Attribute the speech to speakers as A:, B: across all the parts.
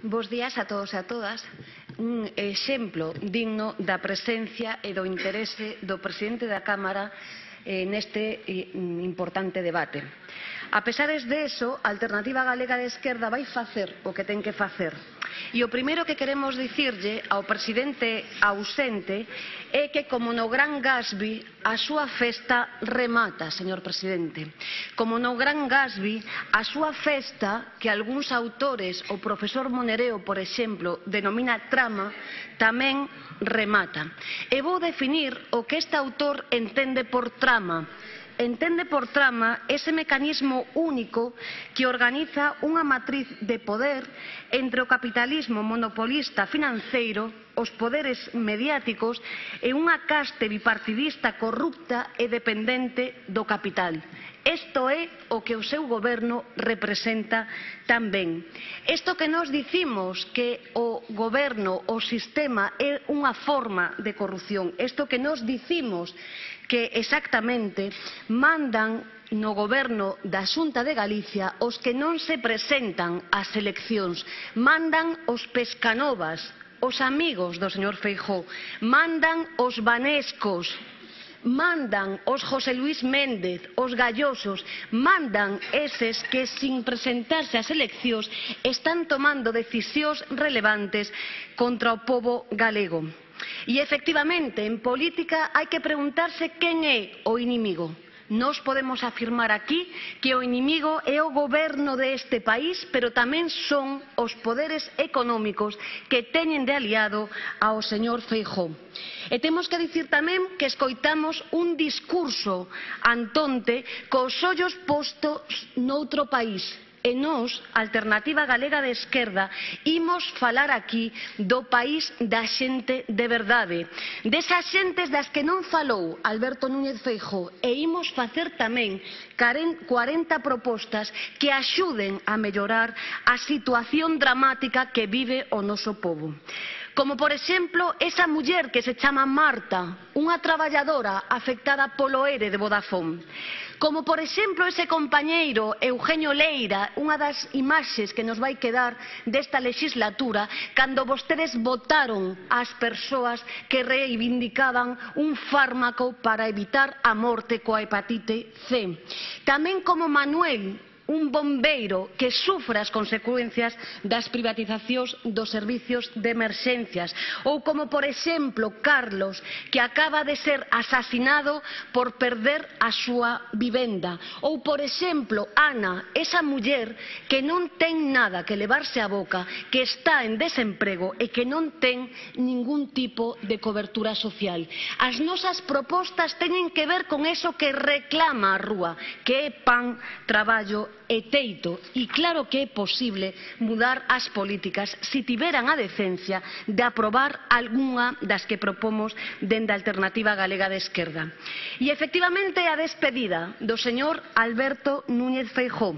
A: Bos días a todos e a todas. Un exemplo digno da presencia e do interese do presidente da Cámara neste importante debate. A pesares de eso, a Alternativa Galega de Esquerda vai facer o que ten que facer. E o primeiro que queremos dicirlle ao presidente ausente é que, como no Gran Gatsby, a súa festa remata, señor presidente. Como no Gran Gatsby, a súa festa, que algúns autores, o profesor Monereo, por exemplo, denomina trama, tamén remata. E vou definir o que este autor entende por trama. Entende por trama ese mecanismo único que organiza unha matriz de poder entre o capitalismo monopolista financeiro, os poderes mediáticos e unha caste bipartidista corrupta e dependente do capital. Isto é o que o seu goberno representa tamén. Isto que nos dicimos que o goberno, o sistema é unha forma de corrupción, isto que nos dicimos que exactamente mandan no goberno da Xunta de Galicia os que non se presentan ás eleccións, mandan os pescanovas, os amigos do señor Feijóo, mandan os vanescos, mandan os José Luís Méndez, os gallosos, mandan eses que, sin presentarse ás eleccións, están tomando decisións relevantes contra o pobo galego. E, efectivamente, en política hai que preguntarse quen é o inimigo. Nós podemos afirmar aquí que o inimigo é o goberno deste país, pero tamén son os poderes económicos que teñen de aliado ao señor Feijóo. E temos que dicir tamén que escoitamos un discurso antonte cos ollos postos noutro país. E nós, Alternativa Galega de Esquerda, imos falar aquí do país da xente de verdade, desas xentes das que non falou Alberto Núñez Feijóo, e imos facer tamén 40 propostas que axuden a mellorar a situación dramática que vive o noso pobo. Como, por exemplo, esa muller que se chama Marta, unha traballadora afectada polo ERE de Vodafone. Como, por exemplo, ese compañeiro Eugenio Leira, unha das imaxes que nos vai quedar desta legislatura, cando vostedes votaron ás persoas que reivindicaban un fármaco para evitar a morte coa hepatite C. Tamén como Manuel, un bombeiro que sufre as consecuencias das privatizacións dos servicios de emerxencias, ou como, por exemplo, Carlos, que acaba de ser asasinado por perder a súa vivenda, ou, por exemplo, Ana, esa muller que non ten nada que levarse á boca, que está en desemprego e que non ten ningún tipo de cobertura social. As nosas propostas teñen que ver con eso que reclama a rúa, que é pan, traballo e teito, e claro que é posible mudar as políticas se tiveran a decencia de aprobar algunha das que propomos dende a Alternativa Galega de Esquerda. E efectivamente a despedida do señor Alberto Núñez Feijóo.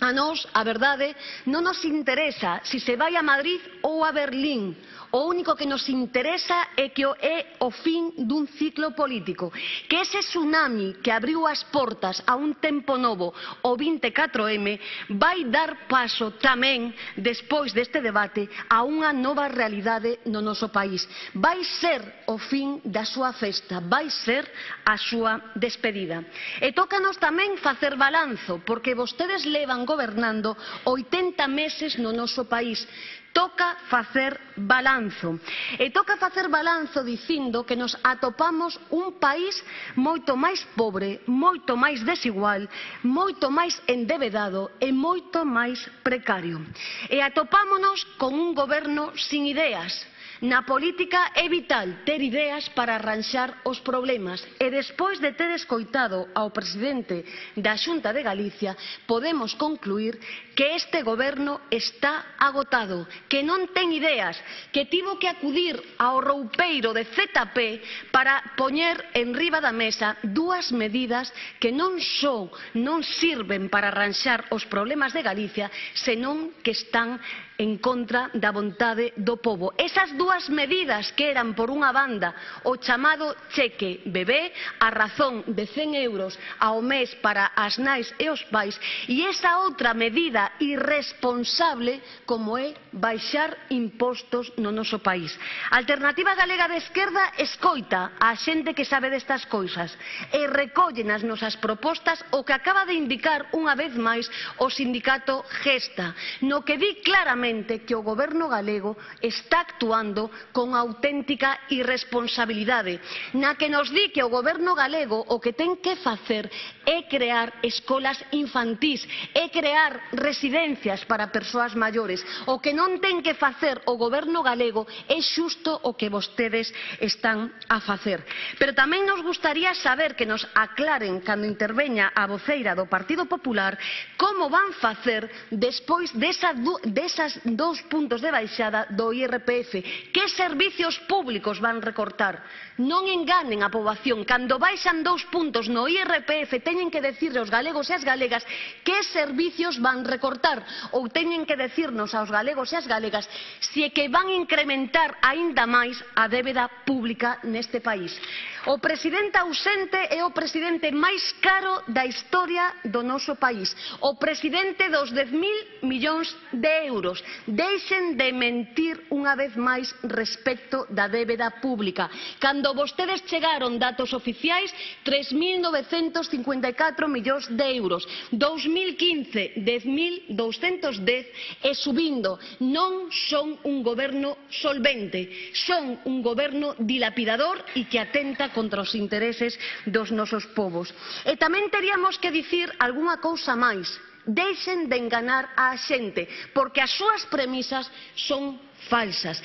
A: A nós, a verdade, non nos interesa se se vai a Madrid ou a Berlín. O único que nos interesa é que é o fin dun ciclo político, que ese tsunami que abriu as portas a un tempo novo, o 24M, vai dar paso tamén, despois deste debate, a unha nova realidade no noso país. Vai ser o fin da súa festa, vai ser a súa despedida. E tócanos tamén facer balanzo, porque vostedes levan gobernando 80 meses no noso país. Toca facer balanzo. E toca facer balanzo dicindo que nos atopamos un país moito máis pobre, moito máis desigual, moito máis endebedado e moito máis precario. E atopámonos con un goberno sin ideas. Na política é vital ter ideas para arranxar os problemas, e despois de ter escoitado ao presidente da Xunta de Galicia, podemos concluir que este goberno está agotado, que non ten ideas, que tivo que acudir ao roupeiro de ZP para poñer en riba da mesa dúas medidas que non só non sirven para arranxar os problemas de Galicia, senón que están en contra da vontade do pobo. Esas dúas dúas medidas que eran, por unha banda, o chamado cheque bebé, a razón de 100 euros ao mes para as nais e os pais, e esa outra medida irresponsable como é baixar impostos no noso país. A Alternativa Galega de Esquerda escoita a xente que sabe destas cousas e recolle nas nosas propostas o que acaba de indicar unha vez máis o sindicato Gesta, no que di claramente que o goberno galego está actuando con auténtica irresponsabilidade, na que nos di que o goberno galego o que ten que facer é crear escolas infantís, é crear residencias para persoas maiores. O que non ten que facer o goberno galego é xusto o que vostedes están a facer. Pero tamén nos gustaría saber, que nos aclaren cando interveña a voceira do Partido Popular, como van facer despois desas 2 puntos de baixada do IRPF. Que servicios públicos van recortar? Non enganen a poboación. Cando baixan 2 puntos no IRPF teñen que decirle aos galegos e as galegas que servicios van recortar, ou teñen que decirnos aos galegos e as galegas se é que van incrementar aínda máis a débeda pública neste país. O presidente ausente é o presidente máis caro da historia do noso país, o presidente dos 10.000 millóns de euros. Deixen de mentir unha vez máis respecto da débeda pública. Cando vostedes chegaron, datos oficiais, 3.954 millóns de euros. 2015, 10.210 e subindo. Non son un goberno solvente, son un goberno dilapidador e que atenta contra os intereses dos nosos povos. E tamén teríamos que dicir algunha cousa máis. Deixen de enganar a xente, porque as súas premisas son falsas.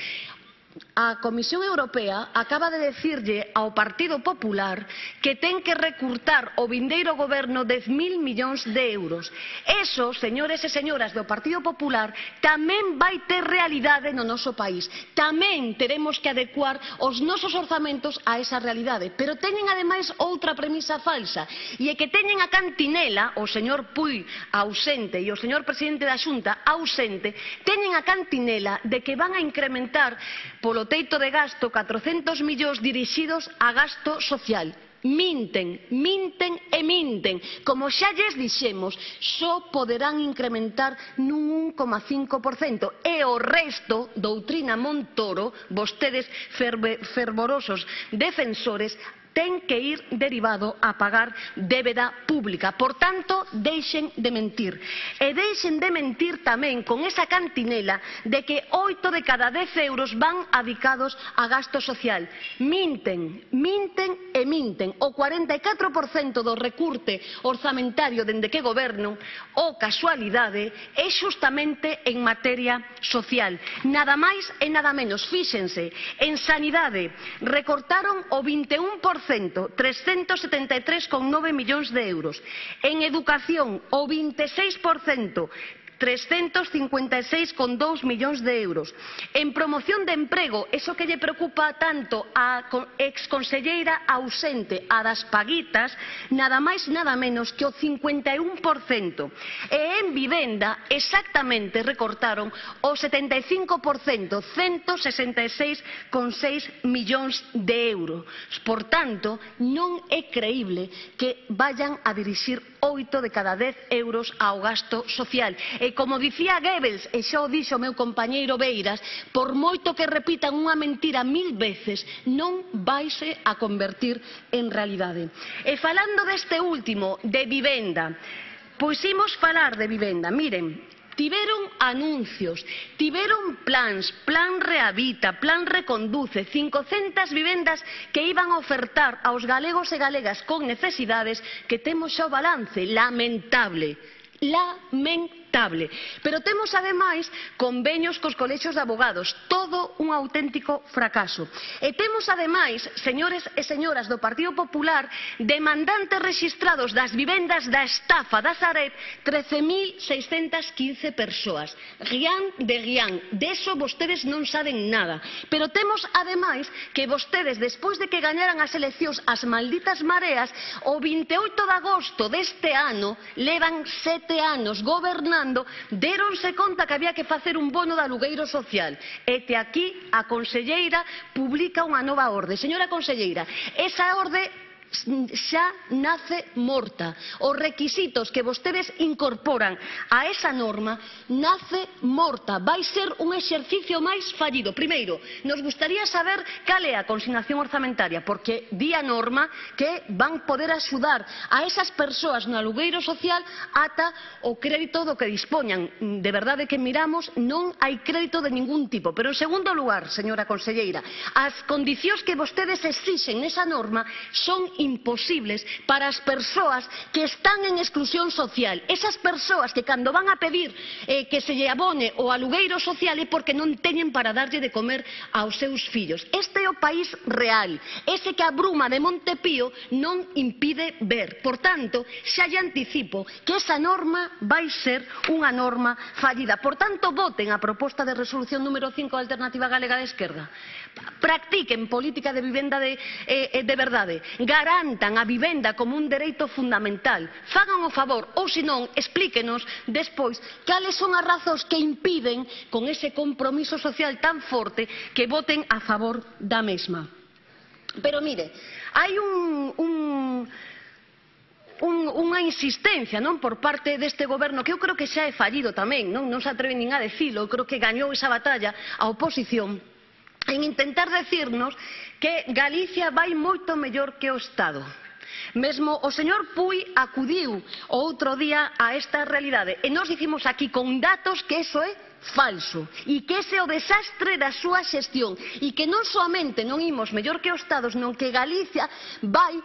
A: A Comisión Europea acaba de decirlle ao Partido Popular que ten que recurtar o vindeiro goberno 10.000 millóns de euros. Eso, señores e señoras do Partido Popular, tamén vai ter realidade no noso país. Tamén teremos que adecuar os nosos orzamentos a esa realidade. Pero teñen ademais outra premisa falsa, e é que teñen a cantinela, o señor Puig ausente e o señor presidente da Xunta ausente, teñen a cantinela de que van a incrementar polo teito de gasto 400 millóns dirixidos a gasto social. Minten, minten e minten. Como xa lles dixemos, só poderán incrementar nun 1,5% e o resto, doutrina Montoro, vostedes fervorosos defensores, ten que ir derivado a pagar débeda pública. Por tanto, deixen de mentir. E deixen de mentir tamén con esa cantinela de que 8 de cada 10 euros van adicados a gasto social. Minten, minten e minten. O 44% do recurte orzamentario dende que goberno, o casualidade, é xustamente en materia social. Nada máis e nada menos. Fíxense, en sanidade recortaron o 21%, 373,9 millóns de euros. En educación, o 26%, 356,2 millóns de euros. En promoción de emprego, eso que lle preocupa tanto a exconselleira ausente, a das paguitas, nada máis nada menos que o 51%. E en vivenda, exactamente recortaron o 75%, 166,6 millóns de euros. Por tanto, non é creíble que vayan a dirixir 8 de cada 10 euros ao gasto social. E como dicía Goebbels, e xa o dixo o meu compañeiro Beiras, por moito que repitan unha mentira 1000 veces, non vaise a convertir en realidade. E falando deste último, de vivenda, pois imos falar de vivenda. Miren, tiveron anuncios, tiveron plans, plan Rehabita, plan Reconduce, 500 vivendas que iban a ofertar aos galegos e galegas con necesidades, que temos xa o balance lamentable. Pero temos ademais convenios cos colexios de abogados, todo un auténtico fracaso. E temos ademais, señores e señoras do Partido Popular, demandantes rexistrados das vivendas da estafa da Sareb, 13.615 persoas. Rián de rián, deso vostedes non saben nada. Pero temos ademais que vostedes, despois de que gañaran as eleccións as malditas mareas, o 28 de agosto deste ano levan 7 anos gobernando gobernando, deronse conta que había que facer un bono de alugueiro social. E te aquí a conselleira publica unha nova orde. Señora conselleira, esa orde xa nace morta. Os requisitos que vostedes incorporan a esa norma nace morta. Vai ser un exercicio máis fallido. Primeiro, nos gustaría saber cal é a consignación orzamentaria, porque di a norma que van poder axudar a esas persoas no alugueiro social ata o crédito do que dispoñan. De verdade que miramos, non hai crédito de ningún tipo. Pero en segundo lugar, señora conselleira, as condicións que vostedes exixen nesa norma son imposibles para as persoas que están en exclusión social. Esas persoas que cando van a pedir que se lle abone o alugueiro social é porque non teñen para darlle de comer aos seus fillos. Este é o país real, ese que a bruma de Montepío non impide ver. Por tanto, xa lle anticipo que esa norma vai ser unha norma fallida. Por tanto, voten a proposta de resolución número 5 da Alternativa Galega de Esquerda. Practiquen política de vivenda de verdade, garantan a vivenda como un dereito fundamental, fagan o favor, ou senón, explíquenos despois cales son as razóns que impiden, con ese compromiso social tan forte, que voten a favor da mesma. Pero mire, hai unha insistencia por parte deste goberno que eu creo que xa é fallido tamén, non se atreven nin a decilo, eu creo que gañou esa batalla a oposición, en intentar decirnos que Galicia vai moito mellor que o Estado. Mesmo o señor Puig acudiu o outro día a esta realidade e nós dicimos aquí con datos que eso é falso e que ese é o desastre da súa xestión e que non soamente non imos mellor que o Estado, senón que Galicia vai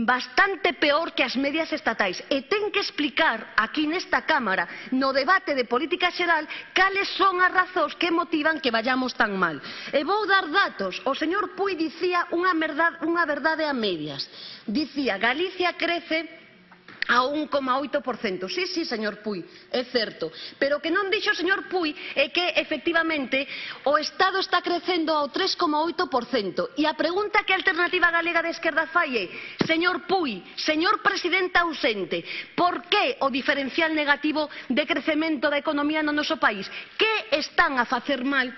A: bastante peor que as medias estatais e ten que explicar aquí nesta Cámara no debate de política xeral cales son as razóns que motivan que vayamos tan mal. E vou dar datos. O señor Puig dicía unha verdade a medias. Dicía, Galicia crece a 1,8%. Sí, señor Puig, é certo. Pero o que non dixo o señor Puig é que, efectivamente, o Estado está crecendo ao 3,8%. E a pregunta que a Alternativa Galega de Esquerda fai é, señor Puig, señor presidente ausente, por que o diferencial negativo de crecemento da economía no noso país? Que están a facer mal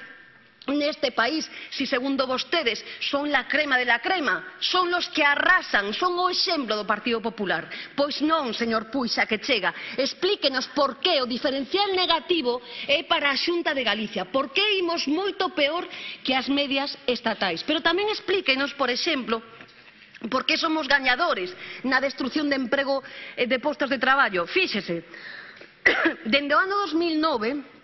A: neste país, si segundo vostedes son la crema de la crema, son los que arrasan, son o exemplo do Partido Popular? Pois non, señor Puig, xa que chega, explíquenos por que o diferencial negativo é para a Xunta de Galicia, por que imos moito peor que as medias estatais. Pero tamén explíquenos, por exemplo, por que somos gañadores na destrucción de emprego e de postos de traballo. Fíxese, dende o ano 2009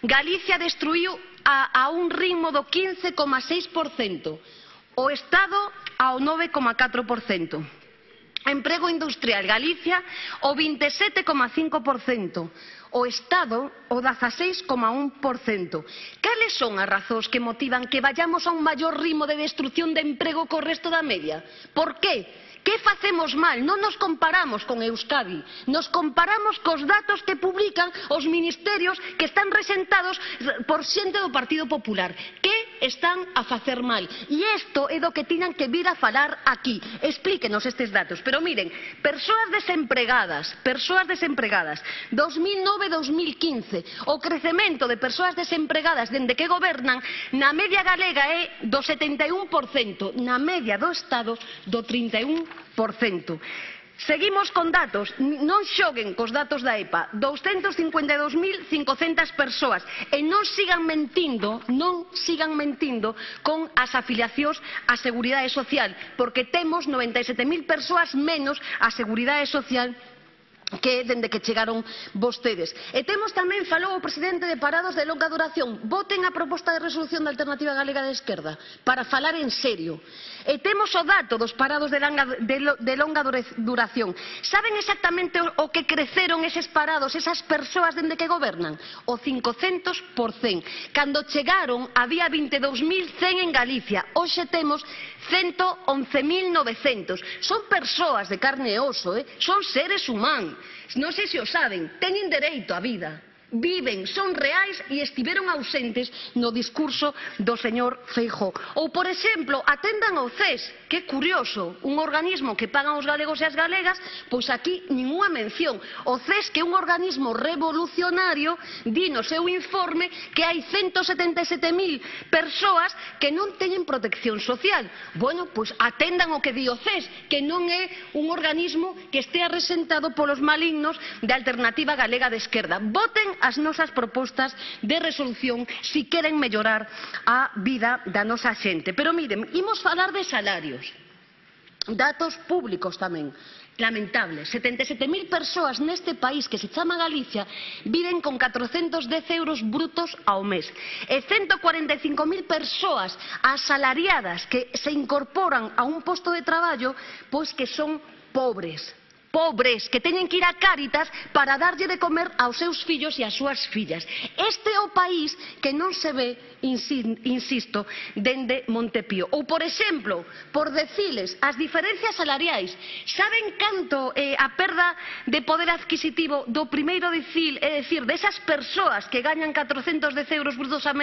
A: Galicia destruiu a un ritmo do 15,6%, o Estado ao 9,4%. Emprego industrial, Galicia o 27,5%, o Estado o 16,1%. Cales son as razóns que motivan que vayamos a un maior ritmo de destrucción de emprego co resto da media? Por que? Que facemos mal? Non nos comparamos con Euskadi, nos comparamos cos datos que publican os ministerios que están rexentados por xente do Partido Popular. Que están a facer mal? E isto é do que tiñan que vir a falar aquí. Explíquenos estes datos. Pero miren, persoas desempregadas, 2009-2015, o crecemento de persoas desempregadas dende que gobernan, na media galega é do 71%, na media do Estado do 31%. Seguimos con datos, non xoguen cos datos da EPA, 252.500 persoas, e non sigan mentindo con as afiliacións á Seguridade Social, porque temos 97.000 persoas menos á Seguridade Social que dende que chegaron vostedes. E temos tamén, falou o presidente, de parados de longa duración. Voten a proposta de resolución da Alternativa Galega de Esquerda para falar en serio. E temos o dato dos parados de longa duración. Saben exactamente o que creceron eses parados, esas persoas dende que gobernan? O 500%. Cando chegaron había 22.100 en Galicia, hoxe temos 111.900. Son persoas de carne e oso, son seres humanos. Non sei se o saben, teñen dereito á vida. viven, son reais e estiveron ausentes no discurso do señor Feijóo. Ou, por exemplo, atendan ao CES, que curioso, un organismo que pagan os galegos e as galegas, pois aquí ninguna mención. O CES, que é un organismo revolucionario, di no seu informe que hai 177.000 persoas que non teñen protección social. Bueno, pois atendan o que di o CES, que non é un organismo que estea resentado polos malignos de Alternativa Galega de Esquerda. Voten as nosas propostas de resolución se queren mellorar a vida da nosa xente. Pero miren, imos falar de salarios. Datos públicos tamén. Lamentable, 77.000 persoas neste país que se chama Galicia viven con 410 euros brutos ao mes e 145.000 persoas asalariadas que se incorporan a un posto de traballo pois que son pobres, que teñen que ir a Cáritas para darlle de comer aos seus fillos e ás súas fillas. Este é o país que non se ve, insisto, dende Montepío. Ou, por exemplo, por deciles, as diferencias salariais. Saben canto a perda de poder adquisitivo do primeiro decil, é dicir, desas persoas que gañan 410 euros brutos ao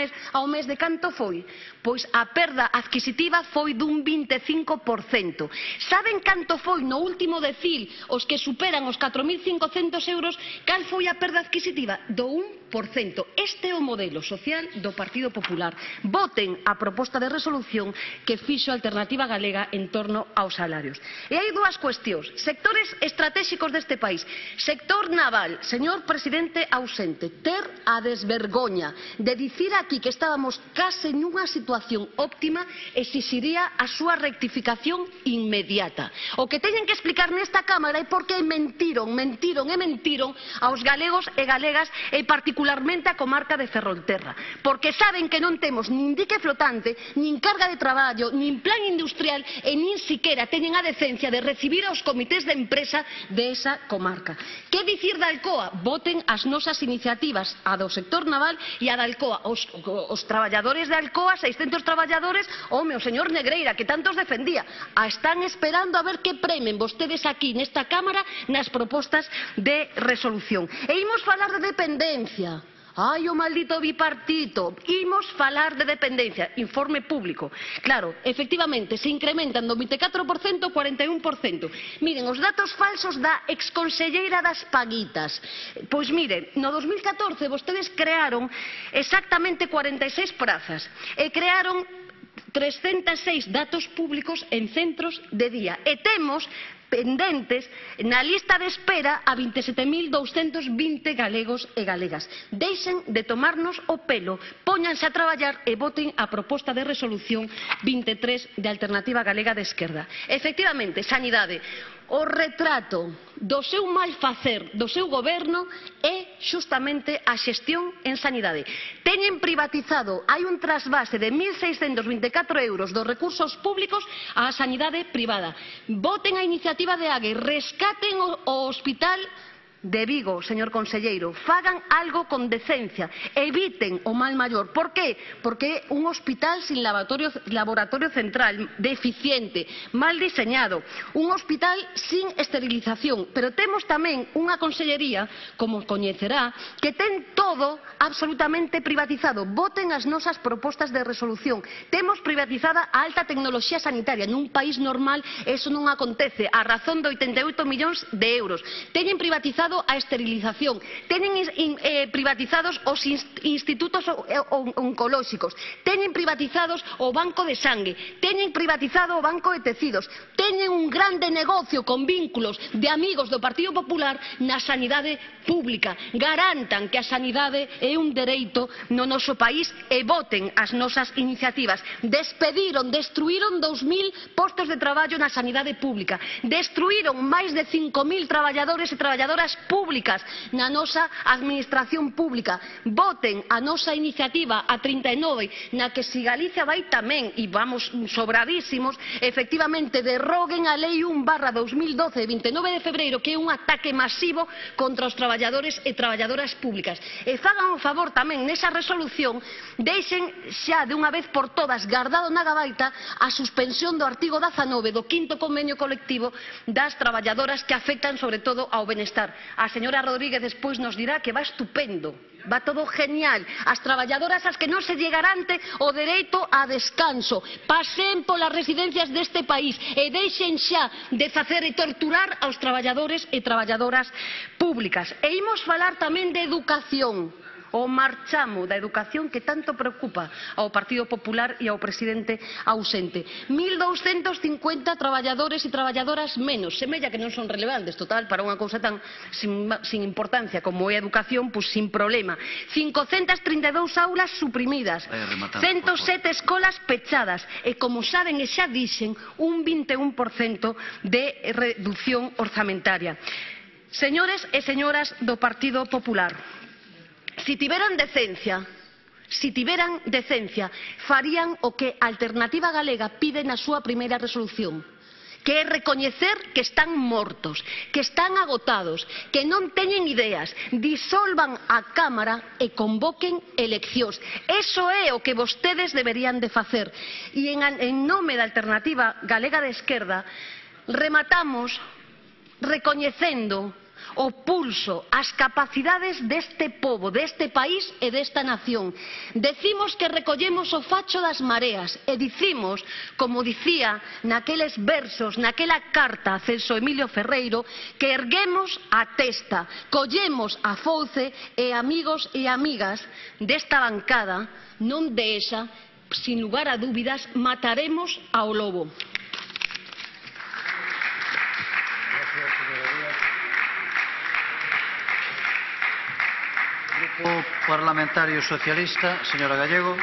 A: mes, de canto foi? Pois a perda adquisitiva foi dun 25%. Saben canto foi no último decil os que superan os 4.500 euros, cal foi a perda adquisitiva? Do 1%. Este é o modelo social do Partido Popular. Voten a proposta de resolución que fixo a Alternativa Galega en torno aos salarios. E hai dúas cuestións. Sectores estratégicos deste país. Sector naval, señor presidente ausente, ter a desvergoña de dicir aquí que estábamos case nunha situación óptima exixiría a súa rectificación inmediata. O que teñen que explicar nesta Cámara é porque mentiron aos galegos e galegas e particularmente a comarca de Ferrolterra, porque saben que non temos nin dique flotante, nin carga de traballo, nin plan industrial e nin siquera teñen a decencia de recibir aos comités de empresa desa comarca. Que dicir da Alcoa? Voten as nosas iniciativas, a do sector naval e a da Alcoa. Os traballadores de Alcoa, 600 traballadores, o señor Negreira, que tantos defendía, están esperando a ver que premen vostedes aquí nesta Cámara nas propostas de resolución. E imos falar de dependencia. Ai, o maldito bipartito. Imos falar de dependencia. Informe público. Claro, efectivamente, se incrementan do 24% ao 41%. Miren, os datos falsos da exconselleira das Paguitas. Pois miren, no 2014 vostedes crearon exactamente 46 prazas e crearon 306 datos públicos en centros de día. E temos pendentes na lista de espera a 27.220 galegos e galegas. Deixen de tomarnos o pelo, póñanse a traballar e voten a proposta de resolución 23 de Alternativa Galega de Esquerda. Efectivamente, sanidade. O retrato do seu mal facer do seu goberno é xustamente a xestión en sanidade. Teñen privatizado, hai un trasvase de 1.624 euros dos recursos públicos á sanidade privada. Voten a iniciativa de Ague, rescaten o hospital de Vigo, señor conselleiro, fagan algo con decencia, eviten o mal maior. Por qué? Porque é un hospital sin laboratorio central, deficiente, mal diseñado, un hospital sin esterilización, pero temos tamén unha consellería, como coñecerá, que ten todo absolutamente privatizado. Voten as nosas propostas de resolución. Temos privatizada a alta tecnoloxía sanitaria. Nun país normal eso non acontece, a razón de 88 millóns de euros. Teñen privatizado a esterilización, teñen privatizados os institutos oncolóxicos, teñen privatizados o banco de sangue, teñen privatizado o banco de tecidos, teñen un grande negocio con vínculos de amigos do Partido Popular na sanidade pública. Garantan que a sanidade é un dereito no noso país e voten as nosas iniciativas. Destruíron 2.000 postos de traballo na sanidade pública, destruíron máis de 5.000 traballadores e traballadoras públicas na nosa administración pública. Voten a nosa iniciativa a 39, na que si Galicia vai tamén, e vamos sobradísimos, efectivamente derroguen a Lei 1/2012 de 29 de febreiro, que é un ataque masivo contra os traballadores e traballadoras públicas. E fagan o favor tamén nesa resolución, deixen xa de unha vez por todas guardado na gabaita a suspensión do artigo 19 do 5º convenio colectivo das traballadoras que afectan sobre todo ao benestar. A señora Rodríguez despois nos dirá que va estupendo, va todo genial. As traballadoras ás que non se lle garante o dereito a descanso. Pasen polas residencias deste país e deixen xa de facer e torturar aos traballadores e traballadoras públicas. E imos falar tamén de educación. O marchamo da educación que tanto preocupa ao Partido Popular e ao presidente ausente. 1.250 traballadores e traballadoras menos. Semella que non son relevantes, total, para unha cousa tan sin importancia como é a educación, pois sin problema. 532 aulas suprimidas, 107 escolas pechadas e, como saben e xa dixen, un 21% de reducción orzamentaria. Señores e señoras do Partido Popular, si tiveran decencia, farían o que a Alternativa Galega pide na súa primeira resolución, que é recoñecer que están mortos, que están agotados, que non teñen ideas, disolvan a Cámara e convoquen eleccións. Eso é o que vostedes deberían de facer. E en nome da Alternativa Galega de Esquerda rematamos recoñecendo o pulso, as capacidades deste pobo, deste país e desta nación. Decimos que recollemos o facho das mareas e dicimos, como dicía naqueles versos, naquela carta a Celso Emilio Ferreiro, que erguemos a testa, collemos a fouce e, amigos e amigas desta bancada, non de esa, sin lugar a dúbidas, mataremos ao lobo.
B: Grupo Parlamentario Socialista, señora Gallego.